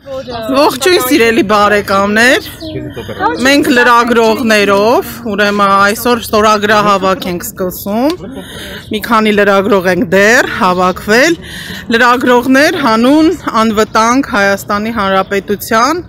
Ողջույն սիրելի բարեկամներ, մենք լրագրողներով, ուրեմն այսօր ստորագրահավաք ենք սկսում, մի քանի լրագրող ենք դեռ հավաքվել, լրագրողներ հանուն անվտանգ Հայաստանի Հանրապետության,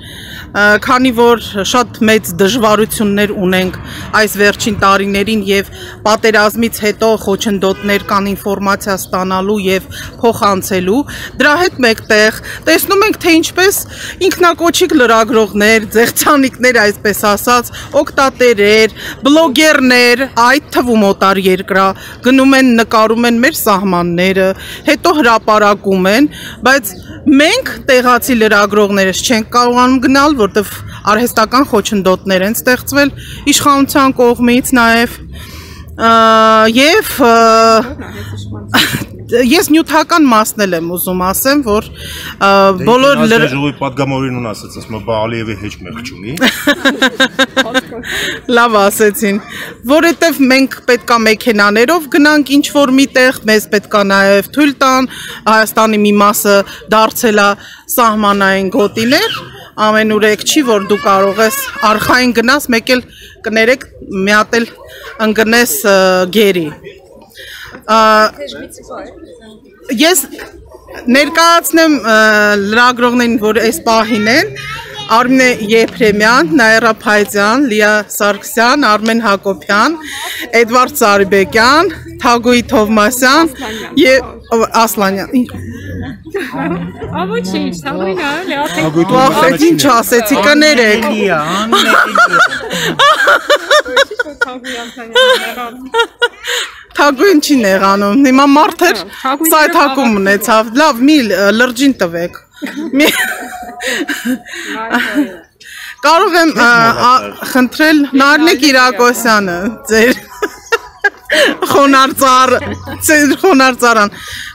քանի որ շատ մեծ դժվարություններ ունենք այս վերջին տարիներին եւ պատերազմից հետո խոչընդոտներ կան ինֆորմացիա ստանալու եւ փոխանցելու, դրա հետ մեկտեղ տեսնում ենք թե ինչպես ինքնակոչիկ լրագրողներ, ձեղցանիկներ, այսպես ասած, օգտատերեր, բլոգերներ, այդ թվում օտար երկրա գնում են նկարում են մեր սահմանները, հետո հրապարակում են, բայց մենք տեղացի լրագրողներս չենք կարողանում գնալ, որտեղ արհեստական խոչընդոտներ են ստեղծվել իշխանության կողմից նաև եւ ես նյութական մասն եմ ուզում ասեմ, որ բոլոր ժողովի պատգամավորին ասած, ասում եմ, Ալիևի հեչ մեղք չունի։ Լավ ասեցին, որովհետև մենք պետքա մեքենաներով գնանք ինչ-որ միտեղ, մեզ պետքա նաև թույլ տան, Հայաստանի մի մասը դարձել է սահմանային գոտիներ, ամենուրեք չի, որ դու կարող ես արխային գնաս, մեկ էլ կներեք, մի հատ էլ ընկնես գերի։ Ես ներկայացնեմ լրագրողներին, որ այս պահին են, Արմինե Եփրեմյան, Նաիրա Փայձյան, Լիա Սարգսյան, Արմեն Հակոբյան, Էդվարդ Սարիբեկյան, Թագուհի Թովմասյան եւ Ասլանյան։ Ոչինչ, Թագուհին Վախետ ինչ ասեցի, կներեք։ Թագուհին չի նեղանում, հիմա մարդեր սայթակում ունեցավ, լավ, մի լրջին տվեք։ Կարող եմ խնդրել Նարնե Կիրակոսյանը, ձեր խոնարհծարան,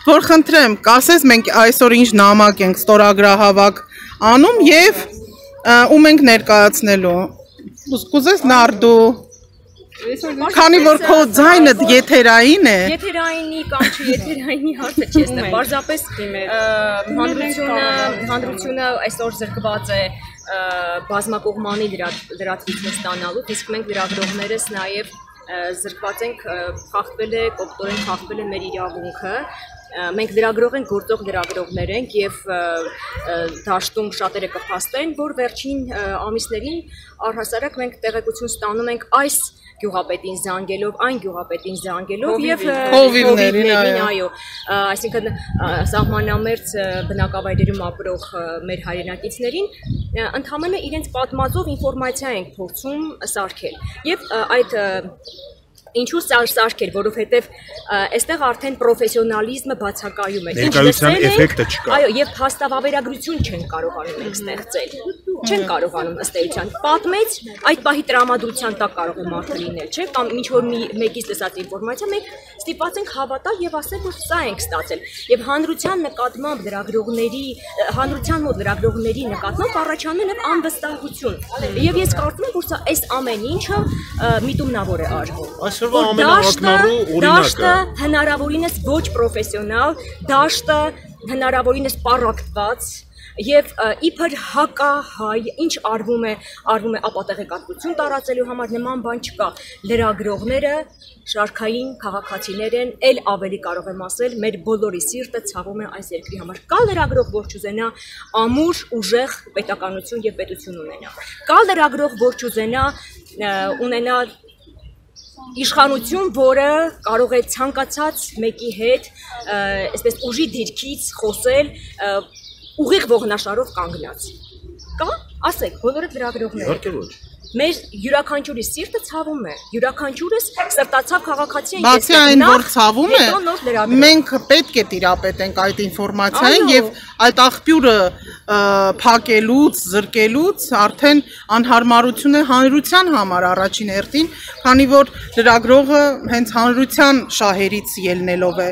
որ խնդրեմ, կասես մենք այսօր ինչ նամակ ենք ստորագրահավաք անում եւ ում ենք ներկայացնելու։ Կուզես Նարդու Քանի որ քո ձայնը եթերային է։ Եթերայինի կամ չեթերայինի հարցը չես նայ, պարզապես հանրությունը այսօր զրկված է բազմակողմանի լրատվություն ստանալու, իսկ մենք լրագրողներս նաև զրկված ենք, կոպտորեն խախտվել է մեր իրավունքը։ Մենք լրագրող ենք, գործող լրագրողներ ենք եւ դաշտում շատերը կփաստեն, որ վերջին ամիսներին առհասարակ մենք տեղեկություն ստանում ենք այս գյուղապետին զանգելով, այն գյուղապետին զանգելով եւ հովիվներին, այո, այսինքն սահմանամերձ բնակավայրերում ապրող մեր հայրենակիցներին ընդհանրապես իրենց պատմածով ինֆորմացիա ենք փորձում սարքել եւ այդ Ինչու սարքել, որովհետև այստեղ արդեն պրոֆեսիոնալիզմը բացակայում է։ Ներկայության էֆեկտը չկա։ Այո, եւ փաստավավերագրություն չեն կարողանում ենք ստեղծել։ Չեն կարողանում ըստ էության պատմեց, այդ պահի տրամադրության տակ կարող է մարդը լինել, չէ՞, կամ ինչ որ մեկից լսած ինֆորմացիա մենք ստիպված ենք հավատալ եւ ասել, որ սա ենք ստացել։ Եւ հանրության նկատմամբ հանրության մոտ լրագրողների նկատմամբ առաջանում է անվստահություն։ Եվ ես կարծում եմ, որ սա այս ամեն ինչը միտումնավոր է արվում։ Դաշտը հնարավորինս ոչ պրոֆեսիոնալ, դաշտը հնարավորինս պառակտված եւ իբր հակահայ, ինչ արվում է ապատեղեկատվություն տարածելու համար նման բան չկա։ Լրագրողները շարքային քաղաքացիներ են, ել ավելի կարող եմ ասել, մեր բոլորի սիրտը ցավում է այս երկրի համար։ Կա լրագրող, որ չուզենա ամուր, ուժեղ պետականություն եւ պետություն ունենա։ Կա լրագրող, որ չուզենա ունենա իշխանություն, որը կարող է ցանկացած մեկի հետ այսպես ուժի դիրքից խոսել ուղիղ ողնաշարով կանգնած։ Կա, ասեք, բոլորը լրագրողներ։ Իհարկե ոչ։ Մեր յուրաքանչյուրի սիրտը ցավում է, յուրաքանչյուրս սրտացավ քաղաքացի են։ Բացի այն, որ ցավում է, մենք պետք է տիրապետենք այդ ինֆորմացիային եւ այդ աղբյուրը փակելուց, զրկելուց արդեն անհարմարություն է հանրության համար առաջին հերթին, քանի որ լրագրողը հենց հանրության շահերից ելնելով է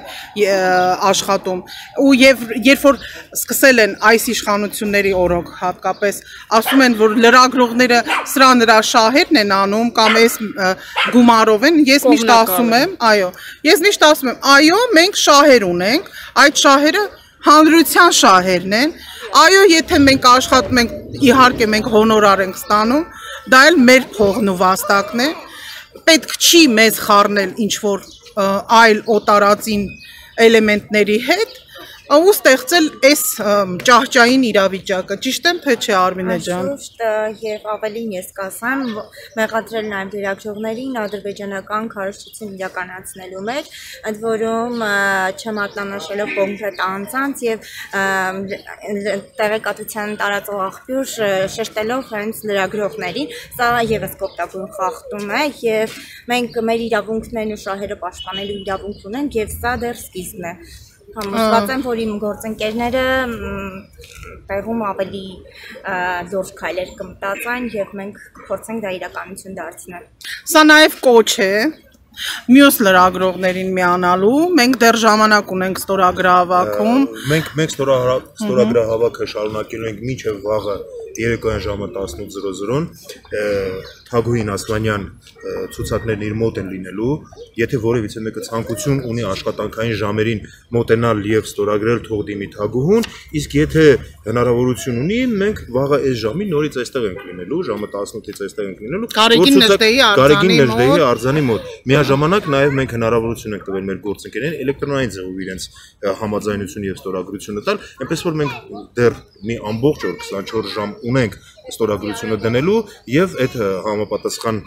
աշխատում։ Ու երբ որ սկսել են այս իշխանությունների օրոք հատկապես ասում են, որ լրագրողները սրա նրա շահերն են անում կամ այս գումարով են, ես միշտ ասում եմ, այո, մենք շահեր ունենք, այդ շահերը հանրության շահերն են, Այո, եթե մենք աշխատում ենք, իհարկե մենք հոնորար ենք ստանում, դա էլ մեր փողն ու վաստակն է։ Պետք չի մեզ խառնել ինչ որ այլ օտարածին էլեմենտների հետ ու ստեղծել այս ճահճային իրավիճակը, ճիշտ եմ թե չէ Արմինե ջան։ Ճիշտ եւ ավելին ես կասեմ, մեղադրել նաեւ դերակցողներին ադրբեջանական քարոզչություն իրականացնելու մեջ, ընդ որում չմատնանշելով կոնկրետ անձանց եւ տեղեկատվության տարածող աղբյուր շեշտելով հենց լրագրողներին, սա եւս կոպտագույն խախտում է եւ մենք մեր իրավունքներն ու շահերը պաշտպանելու իրավունք ունենք եւ սա դեռ սկիզբն է։ Համոզված եմ, որ իմ գործընկերները տեղում ավելի լուրջ քայլեր կմտածեն եւ մենք կփորձենք դա իրականություն դարձնել։ Սա նաեւ կոչ է մյուս լրագրողներին միանալու, մենք դեռ ժամանակ ունենք ստորագրահավաքում։ Մենք ստորագրահավաքը շարունակելու ենք մինչև վաղը երեկոյան ժամը 18:00-ին Թագուհին Ասլանյան ցուցակներն իր մոտ են լինելու, եթե որևիցե մեկը ցանկություն ունի աշխատանքային ժամերին մոտենալ եւ ստորագրել թող դիմի Թագուհուն, իսկ եթե հնարավորություն ունի, մենք վաղը այս ժամին նորից այստեղ ենք լինելու, ժամը 18-ից այստեղ ենք լինելու։ Կարեկին Նժդեհի արձանի մոտ։ Միաժամանակ նաեւ մենք հնարավորություն ենք տվել մեր գործընկերներին էլեկտրոնային ձևով իրենց համաձայնություն եւ ստորագրությունը տալ, այնպես որ մենք դեռ մի ամբողջ օր 24 ժամ ունենք ստորագրությունը դնելու եւ այդ համապատասխան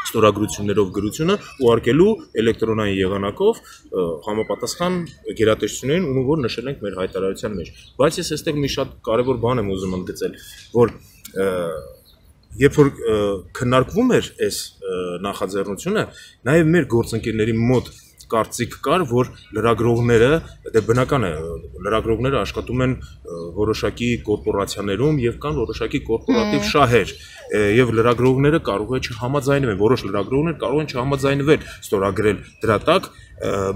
ստորագրություններով գրությունը ուղարկելու էլեկտրոնային եղանակով համապատասխան գերատեսչություններին, ում որ նշել ենք մեր հայտարարության մեջ։ Բայց ես այստեղ մի շատ կարևոր բան եմ ուզում ընդգծել, որ երբ որ քննարկվում էր այս նախաձեռնությունը, նաեւ մեր գործընկերների մոտ կարծիք կար, որ լրագրողները, դե բնական է, լրագրողները աշխատում են որոշակի կորպորացիաներում եւ կան որոշակի կորպորատիվ շահեր եւ լրագրողները կարող է չհամաձայնվեն, որոշ լրագրողներ կարող են չհամաձայնվել ստորագրել դրա տակ,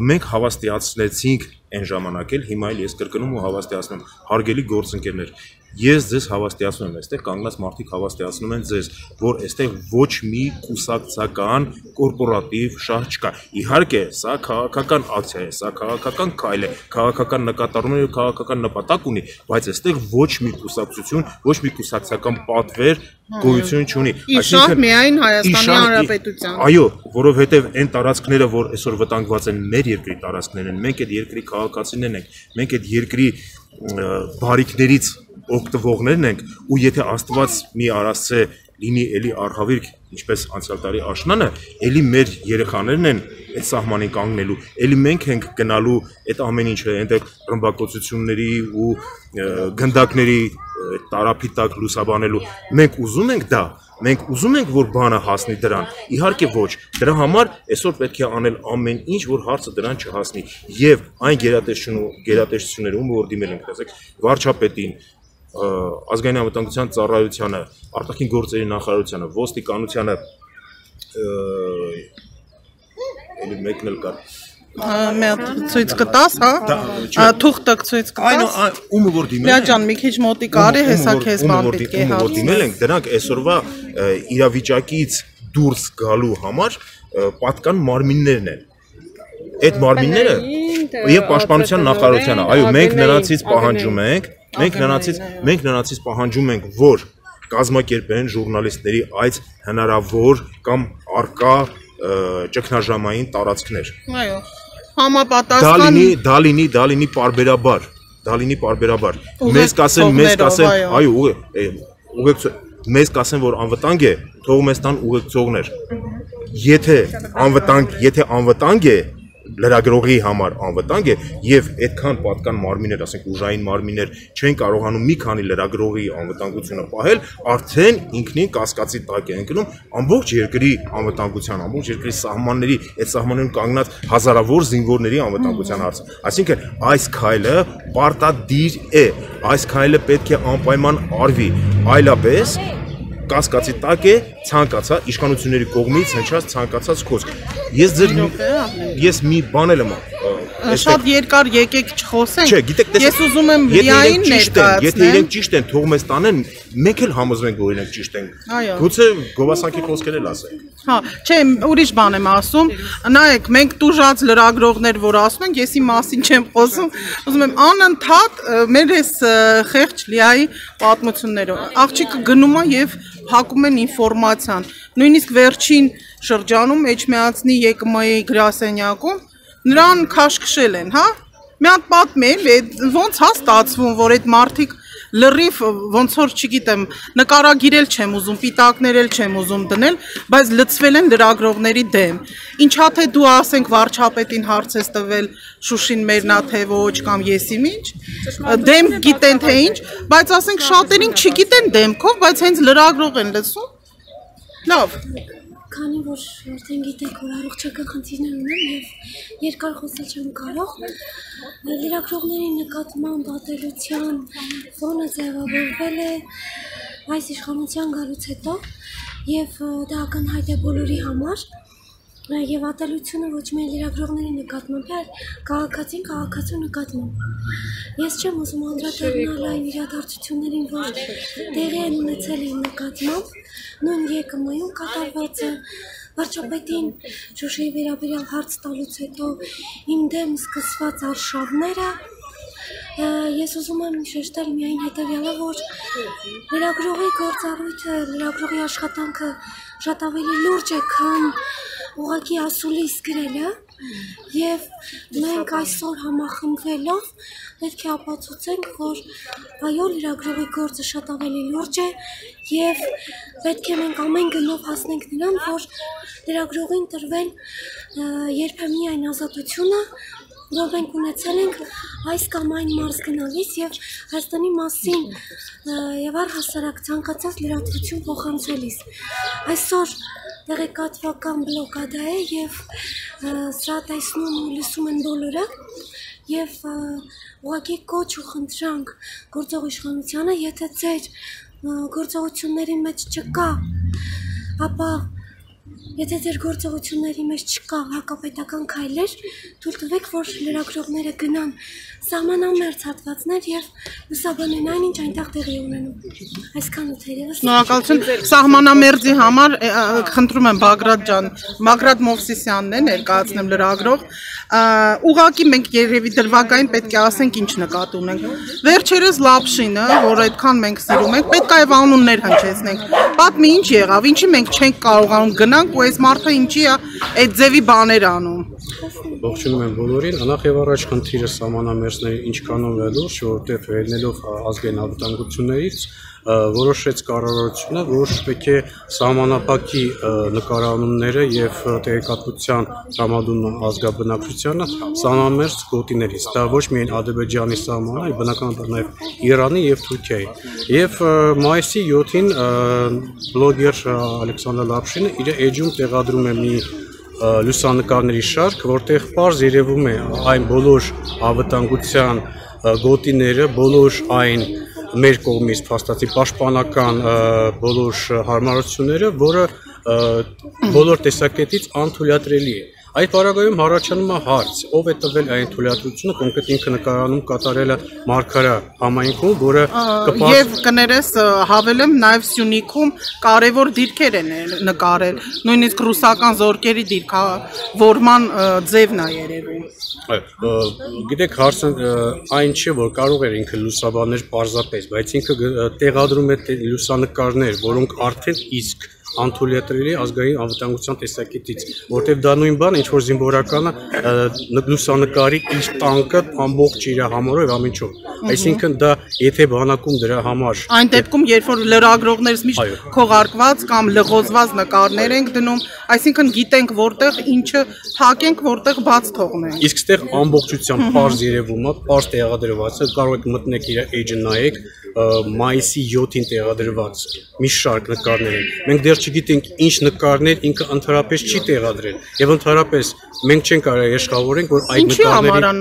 մենք հավաստիացնեցինք այն ժամանակ էլ, հիմա էլ ես կրկնում ու հավաստիացնում, հարգելի գործընկերներ, ես ձեզ հավաստիացնում եմ, այստեղ կանգնած մարդիկ հավաստիացնում են ձեզ, որ այստեղ ոչ մի կուսակցական կորպորատիվ շահ չկա։ Իհարկե, սա քաղաքական ակցիա է, սա քաղաքական քայլ է, քաղաքական նկատառումներ եւ քաղաքական նպատակ ունի, բայց այստեղ ոչ մի կուսակցություն, ոչ մի կուսակցական պատվեր գոյություն չունի։ Այսինքն միայն Հայաստանի Հանրապետության։ Այո, որովհետեւ այն տարածքները, որ այսօր վտանգված են մեր երկրի տարածքներն են, մենք այդ երկրի քաղաքացիներն ենք, մենք այդ երկրի բարիքներից օգտվողներն ենք ու եթե Աստված մի արասցե լինի էլի արհավիրք, ինչպես անցյալ տարի աշնանը, էլի մեր երեխաներն են այդ սահմանին կանգնելու, էլի մենք ենք գնալու այդ ամեն ինչը այնտեղ ռմբակոծությունների ու գնդակների տարափի տակ լուսաբանելու։ Մենք ուզում ենք դա, մենք ուզում ենք, որ բանը հասնի դրան։ Իհարկե ոչ, դրա համար այսօր պետք է անել ամեն ինչ, որ հարցը դրան չհասնի։ Եվ այն գերատեսչությունները, ում որ դիմել ենք, ասեք, վարչապետին, ազգային անվտանգության ծառայությանը, արտաքին գործերի նախարարությանը, ոստիկանությանը, էլի մեկն էլ կար։ Ցույց կտաս, հա։ Թուղթը ցույց կտաս։ Այն ումը որ դիմել են։ Լիա ջան, մի քիչ մոտիկ արի, հեսա քեզ բան պետք է հարց։ Դիմել ենք, դրանք այսօրվա իրավիճակից դուրս գալու համար պատկան մարմիններն են։ Այդ մարմինները եւ պաշտպանության նախարարությանը, այո, մենք նրանցից պահանջում ենք, որ կազմակերպեն ժուրնալիստների այց հնարավոր կամ արկա ճգնաժամային տարածքներ։ Այո, համապատասխան դա լինի պարբերաբար։ Մեզ կասեն, այո, մեզ կասեն, որ անվտանգ է, թող մեզ տան ուղեկցողներ։ Եթե անվտանգ է, լրագրողի համար անվտանգ է եւ այդքան պատկան մարմիններ, ասենք ուժային մարմիններ չեն կարողանում մի քանի լրագրողի անվտանգությունը պահել, արդեն ինքնին կասկածի տակ է ընկնում ամբողջ երկրի անվտանգության, ամբողջ երկրի սահմանների, այդ սահմաններում կանգնած հազարավոր զինվորների անվտանգության հարցը։ Այսինքն այս քայլը պարտադիր է, այս քայլը պետք է անպայման արվի, այլապես կասկածի տակ է ցանկացած իշխանությունների կողմից հնչած ցանկացած խոսք։ Ես մի բան եմ շատ երկար եկեք չխոսենք։ Չէ, գիտեք, ես ուզում եմ միայն ներկայացնել։ Եթե իրենք ճիշտ են, թող մեզ տանեն, մենք էլ համոզվենք, որ իրենք ճիշտ են։ Գուցե գովասանքի խոսքեր էլ ասենք։ Հա, չէ, ուրիշ բան եմ ասում։ Նայեք, մենք տուժած լրագրողներ, որ ասում ենք, եսի մասին չեմ խոսում, ուզում եմ անընդհատ մեր այս խեղճ լիայի պատմություններով։ Աղջիկը գնում է եւ փակում են ինֆորմացիան։ Նույնիսկ վերջին շրջանում Էջմիածնի ԵԿՄ-ի գրասենյակում նրան քաշքշել են, հա։ Մի հատ պատմել, ոնց հա ստացվում, որ այդ մարդիկ լրիվ ոնց որ չգիտեմ, նկարագիրել չեմ ուզում, պիտակներ էլ չեմ ուզում դնել, բայց լծվել են լրագրողների դեմ։ Ինչա թե դու ասենք վարչապետին հարց ես տվել Շուշին մերնա թե ոչ կամ եսի ինչ, դեմ գիտեն թե ինչ, բայց ասենք շատերին չգիտեն դեմքով, բայց հենց լրագրող են լսում։ Լավ։ Քանի որ արդեն գիտեք, որ առողջական խնդիրներ ունեմ եւ երկար խոսել չեմ կարող, լրագրողների նկատմամբ ատելության ֆոնը ձևավորվել է այս իշխանության գալուց հետո եւ դա ակնհայտ է բոլորի համար եւ ատելությունը ոչ միայն լրագրողների նկատմամբ, այլ քաղաքացու նկատմամբ։ Ես չեմ ուզում անդրադառնալ այն իրադարձություններին, որ տեղի են ունեցել իմ նկատմամբ, նույն ԵԿՄ-ում կատարվածը, վարչապետին Շուշիի վերաբերյալ հարց տալուց հետո իմ դեմ սկսված արշավները, ես ուզում եմ շեշտել միայն հետևյալը, որ լրագրողի գործառույթը, լրագրողի աշխատանքը շատ ավելի լուրջ է, քան ուղղակի ասուլիս գրելը եւ մենք այսօր համախմբվելով պետք է ապացուցենք, որ այո, լրագրողի գործը շատ ավելի լուրջ է եւ պետք է մենք ամեն գնով հասնենք նրան, որ լրագրողին տրվել երբեմն այն ազատությունը, որ մենք ունեցել ենք այս կամ այն մարզ գնալիս եւ Հայաստանի մասին եւ առհասարակ ցանկացած լրատվություն փոխանցելիս։ Այսօր տեղեկատվական բլոկադա է եւ սա տեսնում ու լսում են բոլորը եւ ուղղակի կոչ ու խնդրանք գործող իշխանությանը, եթե ձեր գործողությունների մեջ չկա, ապա եթե ձեր գործողությունների մեջ չկա հակապետական քայլեր, թույլ տվեք, որ լրագրողները գնան սահմանամերձ հատվածներ եւ լուսաբանեն այն, ինչ այնտեղ տեղի ունենում։ Այսքանը թերևս։ Շնորհակալություն։ Սահմանամերձի համար խնդրում եմ Բագրատ ջան, Բագրատ Մովսիսյանն է ներկայացնեմ լրագրող։ Ուղղակի մենք երևի դրվագային պետք է ասենք ինչ նկատի ունենք։ Վերջերս Լապշինը, որ այդքան մենք սիրում ենք, պետք է այլ անուններ հնչեցնենք։ Պատմի ինչ եղավ, ինչի մենք չենք կարողանում գնանք ու այս մարդը ինչի է այդ ձևի բաներ անում։ Ողջունում եմ բոլորին, նախ եւ առաջ խնդիրը սահմանամերձների ինչքանով է լուրջ, որովհետեւ ելնելով ազգային անվտանգություններից որոշեց կառավարությունը, որ պետք է սահմանափակի նկարանունները եւ տեղեկատվության տրամադրումը ազգաբնակչությանը սահմանամերձ գոտիներից։ Դա ոչ միայն Ադրբեջանի սահմանը, այլ բնականաբար նաեւ Իրանի եւ Թուրքիայի։ Եվ մայիսի 7-ին բլոգեր Ալեքսանդր Լապշինը իր էջում տեղադրում է մի լուսանկարների շարք, որտեղ պարզ երևում է այն բոլոր անվտանգության գոտիները, բոլոր այն մեր կողմից փաստացի պաշտպանական բոլոր հարմարությունները, որը բոլոր տեսակետից անթույլատրելի է։ Այդ պարագայում առաջանում է հարց, ով է տվել այն թույլատրությունը, կոնկրետ ինքը նկարանում կատարելը Մարգարա համայնքում, որը եւ կներես հավելեմ նաեւ Սյունիքում կարևոր դիրքեր են նկարել, նույնիսկ ռուսական զորքերի դիրքավորման ձևն է երևում։ Գիտեք, հարցը այն չէ, որ կարող էր ինքը լուսաբաներ պարզապես, բայց ինքը տեղադրում է լուսանկարներ, որոնք արդեն իսկ անթույլատրելի ազգային անվտանգության տեսակետից, որտեղ դա նույն բան, ինչ որ զինվորականը լուսանկարի իր տանկը ամբողջ իր համարով ամեն ինչով։ Այսինքն դա եթե բանակում դրա համար այն դեպքում, երբ որ լրագրողներս միշտ քողարկված կամ լղոզված նկարներ ենք դնում, այսինքն գիտենք որտեղ ինչը փակենք, որտեղ բաց թողնենք։ Իսկ ստեղ ամբողջությամբ պարզ երևում է, պարզ տեղադրված է, կարող եք մտնեք իր էջը նայեք, մայիսի 7-ին տեղադրված մի շարք նկարներ են։ Մենք դեռ չգիտենք ինչ նկարներ ինքը ընդհանրապես չի տեղադրել եւ ընդհանրապես մենք չենք կարող երաշխավորենք, որ այդ նկարները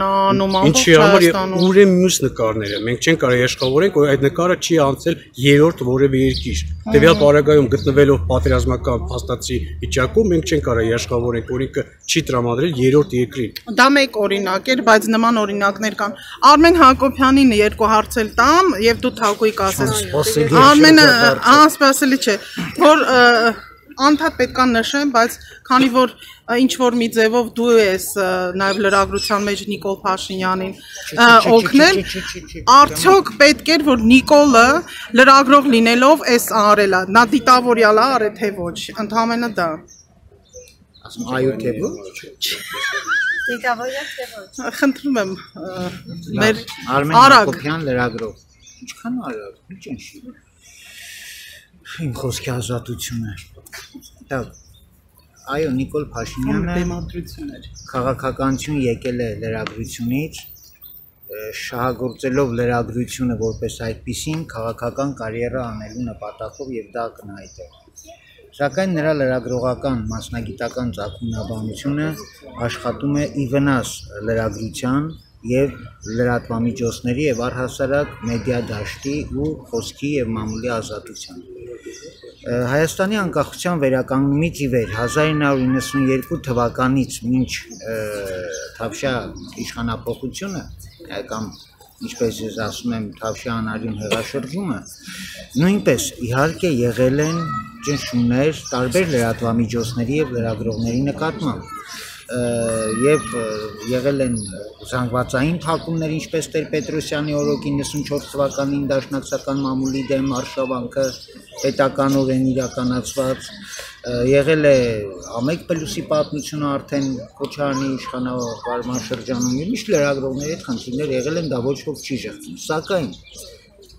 ինչի համար ուր են մյուս նկարները։ Մենք չենք կարող երաշխավորենք, որ այդ նկարը չի անցել երրորդ որևէ երկիր։ Տվյալ պարագայում գտնվելով պատերազմական փաստացի վիճակում մենք չենք կարող երաշխավորենք, որ ինքը չի տրամադրել երրորդ երկրին։ Դա մեկ օրինակ էր, բայց նման օրինակներ կան։ Արմեն Հակոբյանին երկու հարց էլ տամ եւ դու թակույկ ասես։ Արմենը անսպասելի չէ, որ անդադ պետք է նշեմ, բայց քանի որ ինչ որ մի ձևով դու ես նաև լրագրության մեջ Նիկոլ Փաշինյանին օգնել, արդյոք պետք էր որ Նիկոլը լրագրող լինելով էս արելա, նա դիտավորյալ է արել թե ոչ, ընդհանրապես դա։ Ասում այո թե ոչ։ Դիտավորյալ թե ոչ։ Խնդրում եմ մեր Արմեն Հակոբյան լրագրող։ Ինչքան արագ, ինչ ինչի։ Իմ խոսքի ազատությունը։ Այո, Նիկոլ Փաշինյանը քաղաքականություն եկել է լրագրությունից, շահագործելով լրագրությունը որպես այդպիսին քաղաքական կարիերա անելու նպատակով եւ դա կնայտ է։ Սակայն նրա լրագրողական մասնագիտական ծագումնաբանությունը աշխատում է ի վնաս լրագրության եւ լրատվամիջոցների եւ առհասարակ մեդիա դաշտի ու խոսքի եւ մամուլի ազատության։ Հայաստանի անկախության վերականգնումից ի վեր 1992 թվականից մինչ Թավշյա իշխանապողությունը կամ ինչպես ես ասում եմ Թավշյա անարյուն հեղաշրջումը նույնպես իհարկե եղել են ճնշումներ տարբեր լրատվամիջոցների եւ լրագրողների նկատմամբ եւ եղել են զանգվածային թակումներ ինչպես Տեր-Պետրոսյանի օրոք 94 թվականին դաշնակցական մամուլի դեմ արշավանքը պետականորեն իրականացված եղել է Ամեկ Պլյուսի պատմությունը արդեն Քոչարյանի իշխանավարման շրջանում եւ միշտ լրագրողների հետ խնդիրներ եղել են դա ոչ ոք չի ժխտում սակայն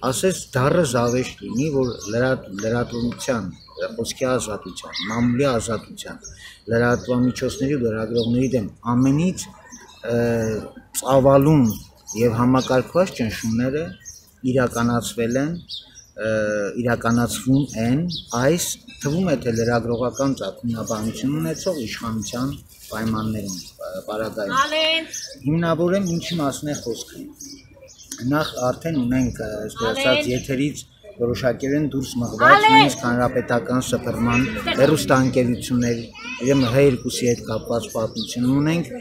ասես դառը զավեշտ լինի որ լրատվության խոսքի ազատության մամուլի ազատության լրատվամիջոցների ու լրագրողների դեմ ամենից ծավալուն եւ համակարգված ճնշումները իրականացվել են իրականացվում են այս թվում է թե լրագրողական ծագումնաբանություն ունեցող իշխանության պայմաններում պարագայում հիմնավորեմ ինչի մասն է խոսքը նախ արդեն ունենք ասած եթերից որոշակերեն դուրս մղված նույնիսկ հանրապետական սփռման հեռուստաընկերությունների իրեմ H2-ի հետ կապված պատմություն ունենք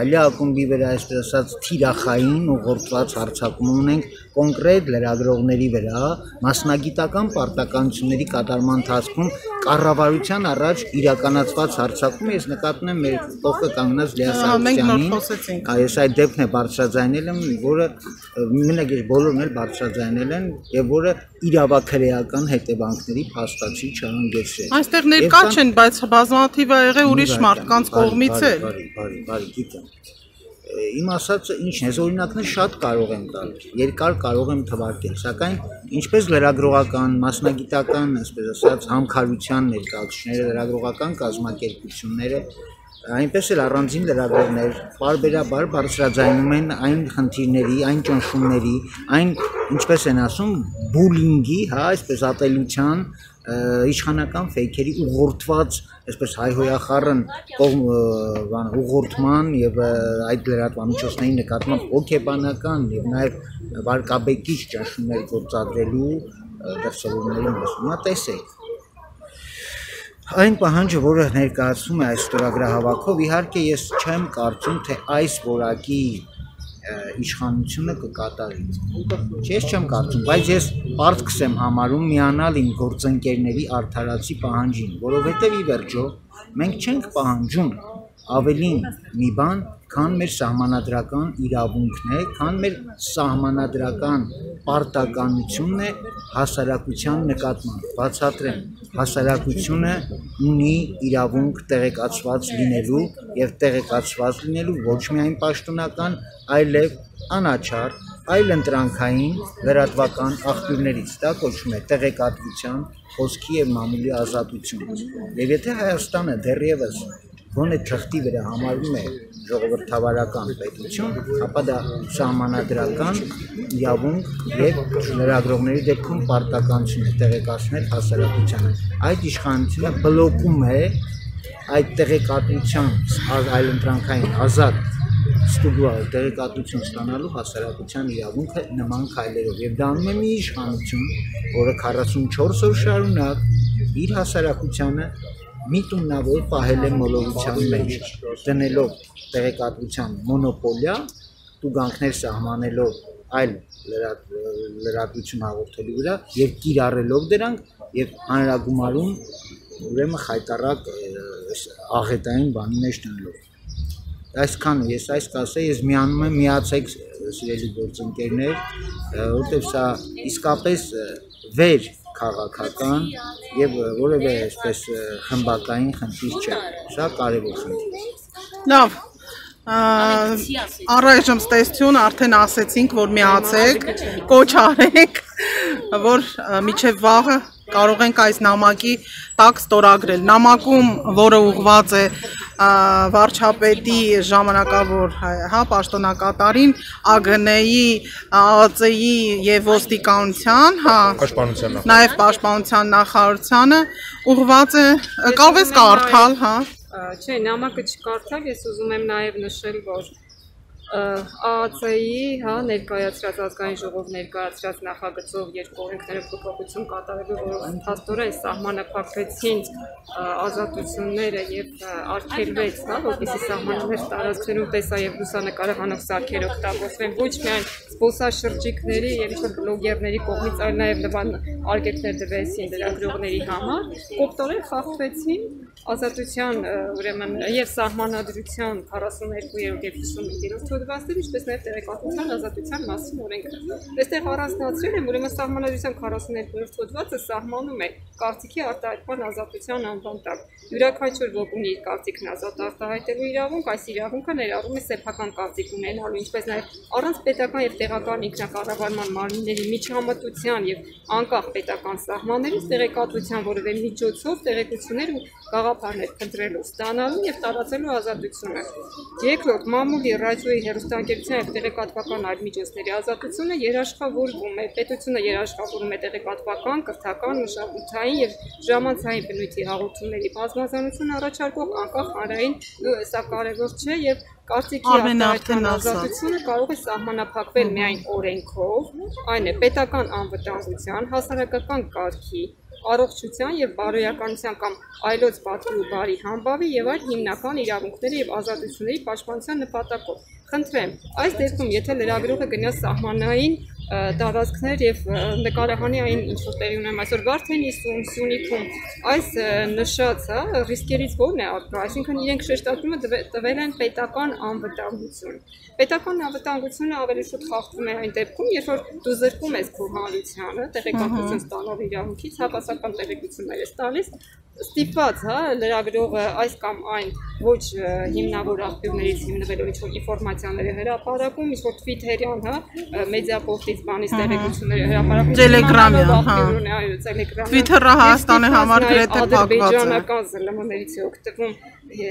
այլի ակումբի վրա այսպես ասած թիրախային ուղղորդված հարձակում ունենք կոնկրետ լրագրողների վրա մասնագիտական պարտականությունների կատարման ընթացքում կառավարության առաջ իրականացված հարձակում ես նկատում եմ մեր փոխը կանգնած Լիա Սարգսյանին այս այդ դեպքն է բարձրաձայնել եմ որը մենակ ես բոլորն էլ բարձրաձայնել են եւ որը իրավաքրեական հետևանքների փաստացի չհանգեցրել այստեղ ներկա չեն բայց բազմաթիվ ա եղել ուրիշ մարդկանց կողմից էլ բարի գիտեմ իմ ասածը ինչն է օրինակներ շատ կարող եմ տալ երկար կարող եմ թվարկել սակայն ինչպես լրագրողական մասնագիտական այսպես ասած համքարության ներկայացուցիչները լրագրողական կազմակերպությունները այնպես էլ առանձին լրագրողներ բարբերաբար բարձրաձայնում են այն խնդիրների այն ճնշումների այն ինչպես են ասում բուլինգի հա այսպես ատելության իշխանական ֆեյքերի ուղղորդված այսպես հայհոյախառն ուղղորդման եւ այդ լրատվամիջոցների նկատմամբ հոգեբանական եւ նաեւ վարկաբեկիչ ճնշումներ գործադրելու դրսևորումների մասում տեսեք այն պահանջը որը ներկայացվում է այս ստորագրահավաքով իհարկե ես չեմ կարծում թե այս որակի իշխանությունը կկատարի ես չեմ կարծում բայց ես պարտքս եմ համարում միանալ իմ գործընկերների արդարացի պահանջին որովհետև ի վերջո մենք չենք պահանջում ավելին մի բան քան մեր սահմանադրական իրավունքն է քան մեր սահմանադրական պարտականությունն է հասարակության նկատմամբ բացատրեմ հասարակությունը ունի իրավունք տեղեկացված լինելու եւ տեղեկացված լինելու ոչ միայն պաշտոնական այլև անաչառ այլ ընտրանքային լրատվական աղբյուրներից դա կոչվում է տեղեկատվության խոսքի եւ մամուլի ազատություն եւ եթե Հայաստանը դեռևս գոնե թղթի վրա համարվում է ժողովրդավարական պետություն, ապա դա սահմանադրական իրավունք եւ լրագրողների դեպքում պարտականություն է տեղեկացնել հասարակությանը։ Այդ իշխանությունը բլոկում է այդ տեղեկատվության այլընտրանքային ազատ ստուգուալ տեղեկատվություն ստանալու հասարակության իրավունքը նման քայլերով եւ դա անում է մի իշխանություն, որը 44 օր շարունակ իր հասարակությանը միտումնավոր պահել է մոլորության մեջ, դնելով տեղեկատվության մոնոպոլիա, տուգանքներ սահմանելով այլ լրատվություն հաղորդելու վրա եւ կիրառելով դրանք եւ հանրագումարում ուրեմն խայտարակ աղետային բանի մեջ դնելով։ Այսքանը ես այս կասեի, ես միանում եմ միացեք սիրելի գործընկերներ, որովհետեւ սա իսկապես վեր քաղաքական եւ որևէ այսպես խմբակային խնդիր չէ, սա կարևոր խնդիր է։ Լավ, առայժմ ստեսություն արդեն ասեցինք, որ միացեք, կոչ արեք, որ միջև վաղը կարող ենք այս նամակի տակ ստորագրել։ Նամակում, որը ուղղված է վարչապետի ժամանակավոր պաշտոնակատարին, ԱԳՆ-ի, ԱԱԾ-ի եւ ոստիկանության, նաեւ պաշտպանության նախարարությանը ուղղված է, կարող ես կարդալ, Չէ, նամակը չկարդալ, ես ուզում եմ նաեւ նշել, որ ԱԱԾ-ի ներկայացրած ազգային ժողով ներկայացրած նախագծով երկու օրենքները փոփոխություն կատարելու, որով փաստորեն սահմանափակվեցին ազատությունները եւ արգելվեց, որպեսզի սահմաններ տարածքներում տեսա եւ լուսանկարահանող սարքեր օգտագործվեն ոչ միայն զբոսաշրջիկների եւ ինչ-որ բլոգերների կողմից, այլ նաեւ նման արգելքներ դրվեցին լրագրողների համար, կողքորեն խախտվեցին ազատության ուրեմն եւ սահմանադրության 42-րդ եւ 55-րդ հոդվածներ, ինչպես նաեւ տեղեկատվության ազատության մասին օրենքը։ Այստեղ առանձնացրել եմ, ուրեմն սահմանադրության 42-րդ հոդվածը սահմանում է կարծիքի արտահայտման ազատության անվան տակ։ Յուրաքանչյուր ոք ունի իր կարծիքն ազատ արտահայտելու իրավունք, այս իրավունքը ներառում է սեփական կարծիք ունենալու, ինչպես նաեւ առանց պետական եւ տեղական ինքնակառավարման մարմինների միջամտության եւ անկախ պետական սահմաններից տեղեկատվության որևէ միջոցով տեղեկություններ ու գաղափարներ փնտրելու, ստանալու եւ տարածելու ազատությունը։ Երկրորդ, մամուլի, ռադիոյի, հեռուստաընկերության եւ տեղեկատվական այլ միջոցների ազատությունը երաշխավորվում է, պետությունը երաշխավորում է տեղեկատվական, կրթական, մշակութային եւ ժամանցային բնույթի հաղորդումների բազմազանություն առաջարկող անկախ հանրային, սա կարևոր չէ եւ Կարծիքի արտահայտման ազատությունը կարող է սահմանափակվել միայն օրենքով, այն է պետական անվտանգության, հասարակական կարգի, առողջության եւ բարոյականության կամ այլոց պատվի ու բարի համբավի եւ այլ հիմնական իրավունքների եւ ազատությունների պաշտպանության նպատակով։ Խնդրեմ, այս դեպքում եթե լրագրողը գնա սահմանային տարածքներ եւ նկարահանի այն ինչ որ տեղի ունեմ այսօր Վարդենիսում, Սյունիքում, այս նշած ռիսկերից ո՞րն է առկա, այսինքն իրենք շեշտադրումը տվել են պետական անվտանգություն։ Պետական անվտանգությունը ավելի շուտ խախտվում է այն դեպքում, երբ որ դու զրկում ես քո հանրությանը, տեղեկատվություն ստանալու իրավունքից, հավասարական տեղեկություններ ես տալիս, ստիպված, լրագրողը այս կամ այն ոչ հիմնավոր աղբյուրներից հիմնվելով ինչ-որ ինֆորմացիաները հրապարակում, ինչ-որ Twitter-յան, մեդիապորտից բանից տեղեկությունները հրապարակում, Telegram-յան, Twitter-ը Հայաստանի համար գրեթե փակված է։ Ադրբեջանական ԶԼՄ-ներից է օգտվում,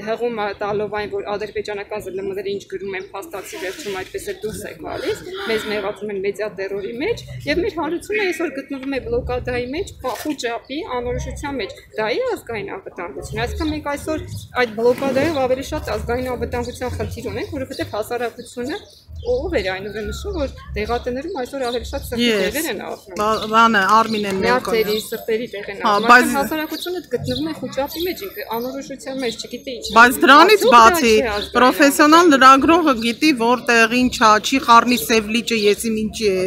հղում տալով այն, որ ադրբեջանական ԶԼՄ-ները ինչ գրում են փաստացի վերջում այդպես է դուրս է գալիս, մեզ մեղադրում են մեդիա տերորի մեջ, եւ մեր հանրությունը այսօր գտնվում է բլոկադայի մեջ, խուճապի, անորոշության մեջ։ Դա է ազգային անվտանգություն։ Այսինքն մենք այսօր այդ բլոկադայով ավելի շատ ազգային անվտանգության խնդիր ունենք, որովհետև հասարակությունը ով էր այն ուրեմն նշում, որ դեղատներում այսօր ավելի շատ սրտի տեղեր են ապրում։ Բանը Արմինեն ներկայացրի սրտերի տեղ են ապրում։ Բայց հասարակությունը գտնվում է խուճապի մեջ, անորոշության մեջ, չգիտի ինչ։ Բայց դրանից բացի պրոֆեսիոնալ լրագրողը գիտի, որտեղ ինչա, չի խառնի սև լիճը, եսիմ ինչի է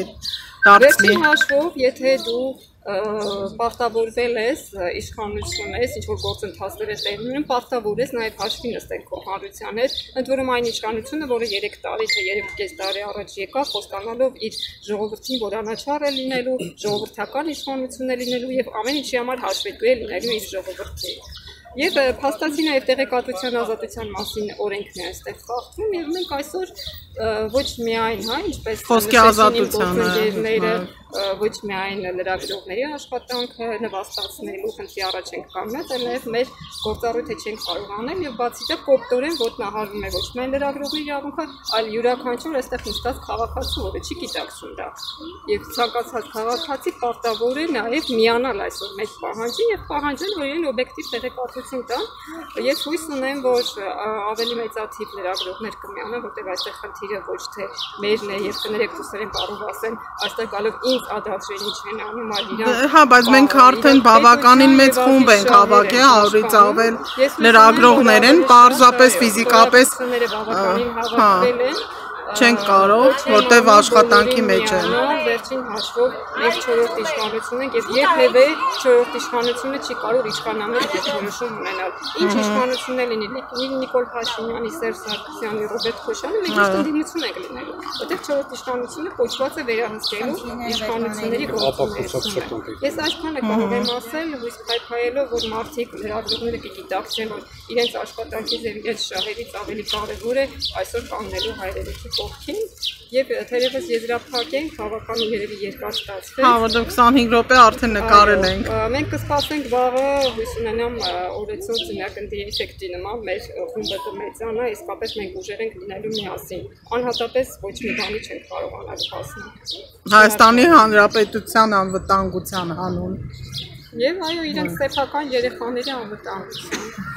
դարձնի։ Վերջին հաշվով, եթե դու պարտավորվել ես, իշխանություն ես, ինչ-որ գործընթացներ ես տեղի ունենում, պարտավոր ես նաև հաշվի նստել քո հանրության հետ, ընդ որում այն իշխանությունը, որը 3 տարի թե 3.5 տարի առաջ եկավ, խոստանալով իր ժողովրդին, որ անաչառ է լինելու, ժողովրդական իշխանություն է լինելու եւ ամեն ինչի համար հաշվետու է լինելու իր ժողովրդին։ Եվ փաստացի նաև տեղեկատվության ազատության մասին օրենքն է այստեղ խախտվում եւ մենք այսօր ոչ միայն, ինչպես խոսքի ազատությունը, ոչ միայն լրագրողների աշխատանքը նվաստացնելու խնդրի առաջ ենք կանգնել, այլ նաև մեր գործառույթը չենք կարող անել եւ բացի դա կոպտորեն ոտնահարվում է ոչ միայն լրագրողների իրավունքը, այլ յուրաքանչյուր այստեղ նստած քաղաքացու, որը չի գիտակցում դա։ Եվ ցանկացած քաղաքացի պարտավոր է նաև միանալ այսօր մեծ պահանջին եւ պահանջել, որ իրեն օբյեկտիվ տեղեկատվություն տան։ Ես հույս ունեմ, որ ավելի մեծաթիվ լրագրողներ կմիանան, որտեղ այստեղ խնդիրը ոչ թե մերն է եւ կներեք դուսերեն կարող ասեն, այստեղ գալով ինձ ադասրեն ինչ են անում, այլ իրան։ Հա, բայց մենք արդեն բավականին մեծ խումբ ենք հավաքել, 100-ից ավել լրագրողներ են, պարզապես ֆիզիկապես չենք կարող, որտեվ աշխատանքի մեջ են։ Վերջին հաշվով մենք 4-րդ իշխանություն ենք եւ երբևէ 4-րդ իշխանությունը չի կարող իշխանանել եւ որոշում ունենալ։ Ինչ իշխանություն է լինի, Նիկոլ Փաշինյանի, Սերժ Սարգսյանի, Ռոբերտ Քոչարյանի, մենք ճիշտ ընդդիմություն ենք լինելու, որտեվ 4-րդ իշխանությունը կոչված է վերահսկելու իշխանությունների գործունեությունը։ Ես այսքանը կարող եմ ասել, հույս փայփայելով, որ մարդիկ լրագրողները կգիտակցեն, որ իրենց աշխատանքի եւ իրենց շահերից ավելի կարեւոր է այսօր կանգնելու հայրենիքի կողքին եւ թերևս եզրափակ ենք, բավականին երևի երկար ստացվել։ Հա, որտեղ 25 րոպե արդեն նկարել ենք։ Մենք կսպասենք վաղը, հույս ունենամ օրեցօր ծննդի էֆեկտի նման մեր խումբը կմեծանա, իսկապես մենք ուժեր ենք լինելու միասին։ Անհատապես ոչ մի բանի չենք կարողանալ հասնել։ Հայաստանի Հանրապետության անվտանգության հանուն։ Եվ այո, իրենց սեփական երեխաների անվտանգության։